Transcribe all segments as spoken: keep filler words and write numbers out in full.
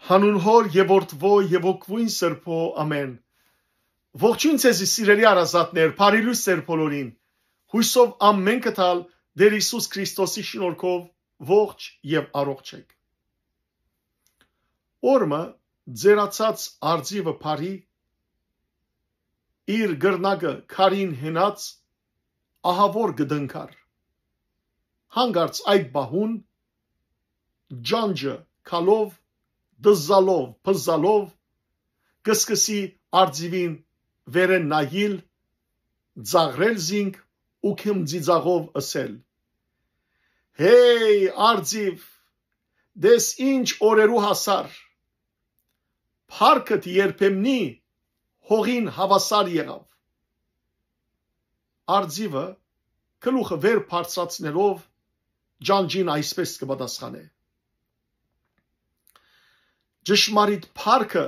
Հանուն Հօր եւ Որդւոյ եւ Հոգւոյն Սրբոյ, ամէն։ Ողջոյն ձեզի, սիրելի հարազատներ, բարի լոյս ձեր բոլորին։ Յուսով ամէն կտալ Տէր Յիսուս Քրիստոսի շնորհքով ողջ եւ առողջ եք։ Օրը ձերացած արծիվը բարի, իր կռնակը քարին հենած, ահաւոր կը տնկար։ Հանկարծ այդ պահուն ճանճը քալով, դզալով, բզալով, կը սկսի արծիվին վերէն նայիլ, ծաղրել զինք ու քմծիծաղով ըսել. «Հեյ, արծիվ, տես ինչ օրերու հասար։ Փառքդ երբեմնի հողին հաւասար եղաւ»։ Արծիվը գլուխը վեր բարձրացնելով ճանճին այսպէս կը պատասխանէ. «Ճշմարիտ փառքը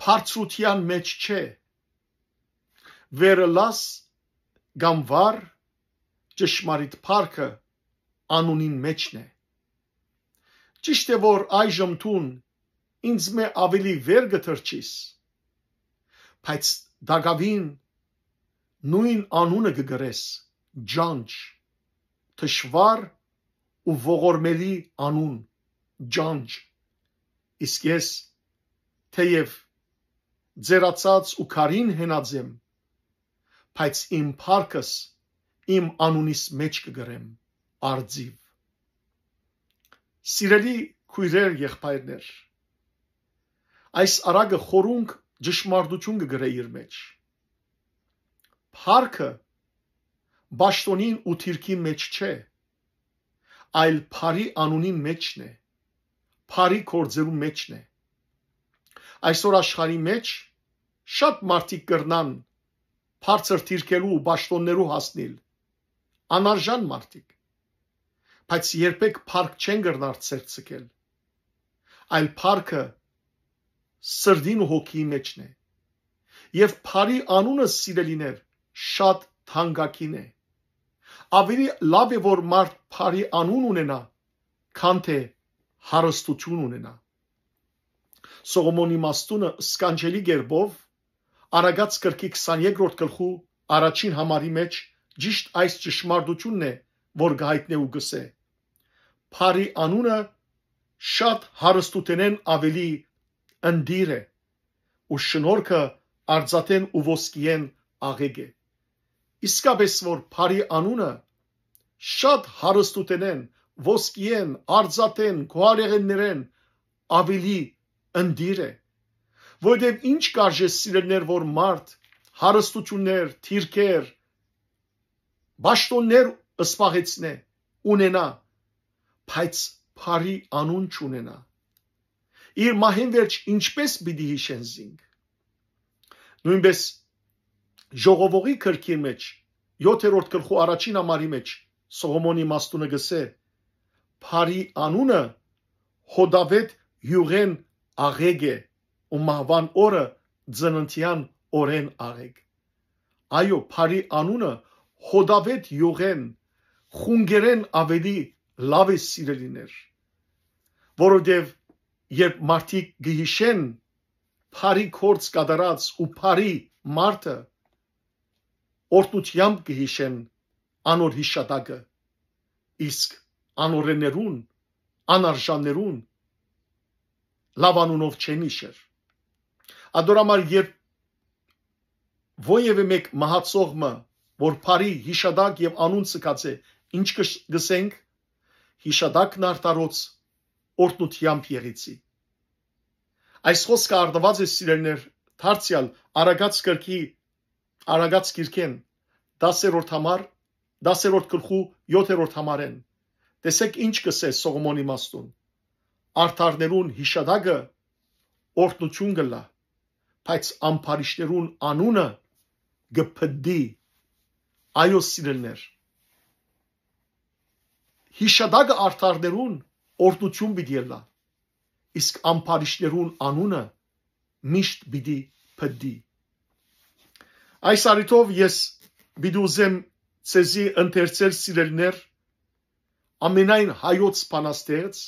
բարձրութեան մէջ չէ, վեր ըլլաս կամ վար, ճշմարիտ փառքը անունին մէջն է։ Ճիշդ է որ այժմ դուն ինձմէ աւելի վեր կը թռչիս, բայց տակաւին նոյն անունը կը կրես, ճանճ, թշուառ ու ողորմելի անուն, ճանճ։ Իսկ ես թէեւ ձերացած ու քարին հենած եմ, բայց իմ փառքս իմ անունիս մէջ կը կրեմ, արծիվ»։ Սիրելի քոյրեր, եղբայրներ, այս առակը խորունկ ճշմարտութիւն կը կրէ իր մէջ։ Փառքը պաշտօնին ու դիրքին մէջ չէ, այլ բարի անունին մէջն է, բարի գործերու մէջն է։ Այսօր աշխարհի մէջ շատ մարդիկ կրնան բարձր դիրքերու ու պաշտոններու հասնիլ, անարժան մարդիկ, բայց երբեք փառք չեն կրնար ձեռք ձգել, այլ փառքը սրտին ու հոգիի մէջն է։ Եւ բարի անունը, սիրելիներ, շատ թանկագին է։ Աւելի լաւ է որ մարդ բարի անուն ունենայ, քան թէ հարստութիւն ունենայ։ Սողոմոնի իմաստունը սքանչելի կերպով Առակաց գրքի քսաներկրորդ գլխու առաջին համարի մէջ ճիշդ այս ճշմարտութիւնն է, որ կը յայտնէ ու կ'ըսէ. «Բարի անունը շատ հարստութենէն աւելի ընտիր է, ու շնորհքը արծաթէն ու ոսկիէն աղէկ է»։ Իսկապէս որ բարի անունը շատ հարստութենէն, ոսկիէն, արծաթէն, գոհարեղէններէն աւելի ընտիր է։ Որովհետեւ ինչ կարժէ, սիրելիներ, որ մարդ հարստութիւններ, դիրքեր, պաշտոններ սպասեցնէ, ունենայ, բայց բարի անուն չունենայ։ Իր մահէն վերջ ինչպէս պիտի յիշեն զինք։ Նոյնպէս Ժողովողի գրքին մէջ, յոթերորդ գլխու առաջին համարի մէջ, Սողոմոնի իմաստունը կ'ըսէ. «Բարի անունը հոդաւէտ յուղէն աղէկ է ու մահուան օրը ծննդեան օրէն աղէկ»։ Այո, բարի անունը հոդաւէտ յուղէն, խունկերէն աւելի լաւ է, սիրելիներ, որովհետեւ երբ մարդիկ կը յիշեն բարի գործ կատարած ու բարի մարդը, օրհնութեամբ կը յիշեն անոր յիշատակը, իսկ անօրէններուն, անարժաններուն լաւ անունով չեն յիշեր։ Ատոր համար երբ որեւէ մէկ մահացող մը, որ բարի յիշատակ եւ անուն ձգած է, ինչ կը-, կ'ըսենք, յիշատակն արդարոց օրհնութեամբ եղեցի։ Այս խօսքը արտուած է, սիրելիներ, դարձեալ Առակաց գրքի, Առակաց գիրքէն, դասերորդ համար, դասերորդ գլխու յոթերորդ համարէն։ Տեսէք ինչ կ'ըսէ Սողոմոնի իմաստուն. «Արդարներուն յիշատակը օրհնութիւն կ'ըլլայ, բայց ամբարիշտներուն անունը կը փդի»։ Այո, սիրելիներ, յիշատակը արդարներուն օրհնութիւն պիտի ըլլայ, իսկ ամբարիշտներուն անունը միշտ պիտի փդի։ Այս առիթով ես պիտի ուզեմ ձեզի ընթերցել, սիրելիներ, ամենայն հայոց բանաստեղծ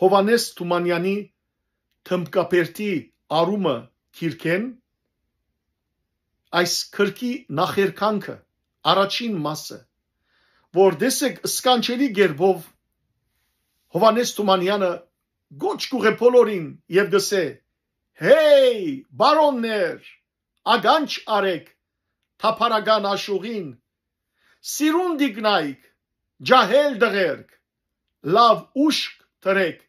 Յովհաննէս Թումանեանի Թմբկաբերդի արումը գիրքէն, այս գրքի նախերգանքը, առաջին մասը, որ տեսեք, սքանչելի կերպով Յովհաննէս Թումանեանը կոչ կ'ուղղէ բոլորին եւ կ'ըսէ. «Հեյ, բարոններ, ականջ առէք թափառական աշուղին, սիրուն տիկնայք, ջահել տղերք, լաւ ուշք դրէք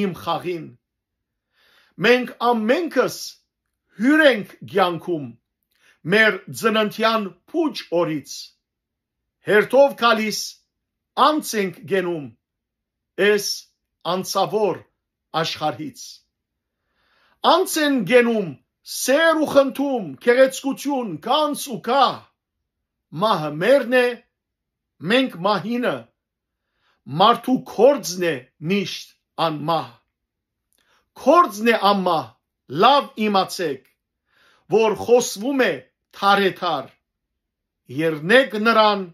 իմ խաղին։ Մենք ամենքս հիւր ենք կեանքում մեր ծննդեան փուչ օրից։ Հերթով գալիս անց ենք գենում էս անցաւոր աշխարհից։ Անց են գենում սեր ու խնդում, գեղեցկութիւն, գանձ ու գահ։ Մահը մերն է, մենք մահինը, մարդու կորձն է միշտ անմահ։ Կորձն է անմահ, լաւ իմացեք, որ խօսվում է թարեթար։ Երնեք նրան,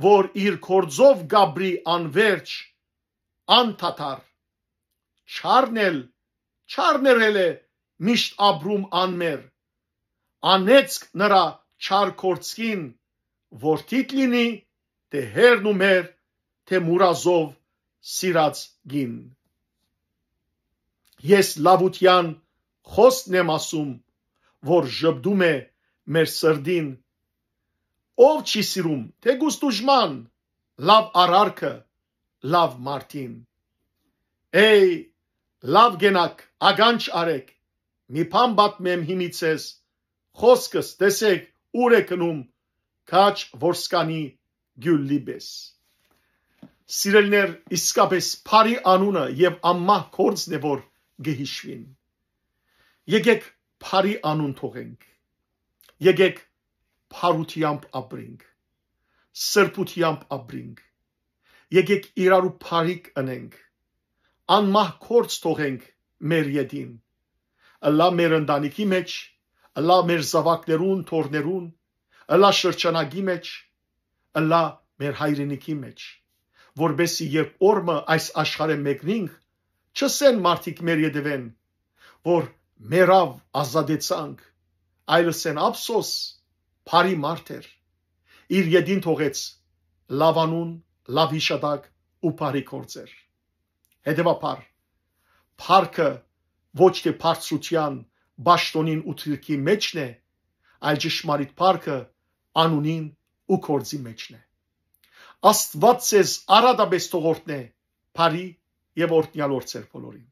որ իր կորձով կ'ապրի անվերջ, անդադար։ Չարն էլ, չարն էր ելէ միշտ ապրում անմեր։ Անեծք նրա չար կորձին, որ թիթ լինի, թէ հերն ու մեր, թէ մուրազով սիրած գին։ Ես լաւութեան խօսն եմ ասում, որ ժպտում է մեր սրտին։ Ով չի սիրում, թէ գուս դուժման, լաւ արարքը, լաւ մարդին։ Էյ, լաւ գենաք, ականջ առէք, մի բան պատմեմ հիմի ձեզ, խօսքս տեսեք ուր է գնում, քաջ որսկանի գիւլլի պէս։ Սիրելիներ, իսկապէս բարի անունը եւ անմահ կորձն է, որ կը յիշուին։ Եկեք բարի անուն թողենք։ Եկեք բարութեամբ ապրենք, սրբութեամբ ապրենք։ Եկեք իրարու բարիք ընենք, անմահ կորձ թողենք մեր ետին, ըլլայ մեր ընտանիքի մէջ, ըլլայ մեր զաւակներուն, թոռներուն, ըլլայ շրջանակի մէջ, ըլլայ մեր հայրենիքի մէջ, որպէսզի երբ օր մը այս աշխարհէն մեկնինք, չըսեն մարդիկ մեր ետեւէն, որ մեռաւ, ազատեցանք, այլ ըսեն. «Ափսոս, բարի մարդ էր, իր ետին թողեց լաւ անուն, լաւ յիշատակ ու բարի գործեր»։ Հետեւաբար, փառքը ոչ թէ բարձրութեան, պաշտօնին ու դիրքի մէջն է, այլ ճշմարիտ փառքը անունին ու գործի մէջն է։ Աստուած ձեզ արատապէս թող օրհնէ բարի եւ օրհնեալ օր ձեր բոլորին։